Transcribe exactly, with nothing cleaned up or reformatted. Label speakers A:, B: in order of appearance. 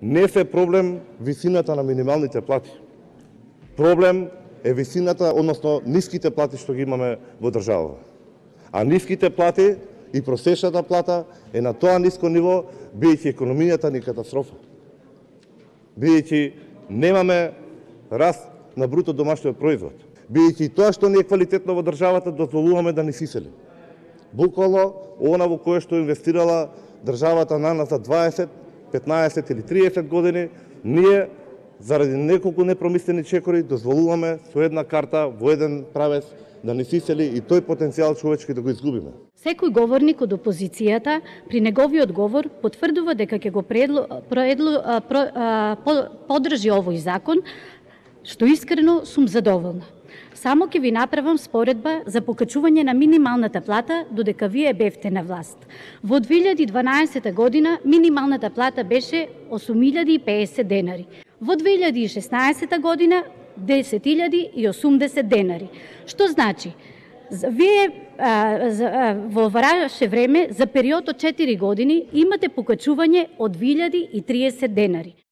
A: Не се проблем висината на минималните плати. Проблем е висината, односно ниските плати што ги имаме во државата. А ниските плати и просечната плата е на тоа ниско ниво, бидејќи економијата ни катастрофа. Бидејќи немаме раст на бруто домашниот производ. Бидејќи тоа што не е квалитетно во државата, дозволуваме да ни сисели. Буквално, она во кое што инвестирала државата на нас за дваесет, петнаесет или триесет години, ние заради неколку непромислени чекори дозволуваме со една карта во еден правец да ни сисели и тој потенцијал човечки да го изгубиме.
B: Секој говорник од опозицијата при неговиот говор потврдува дека ќе го предло, предло, про, по, подржи овој закон, што искрено сум задоволна. Само ќе ви направам споредба за покачување на минималната плата додека вие бевте на власт. Во две илјади и дванаесета година минималната плата беше осум илјади и песет денари. Во две илјади и шеснаесета година десет илјади и осумдесет денари. Што значи? Вие а, за, а, во ваше време за период од четири години имате покачување од две илјади и триесет денари.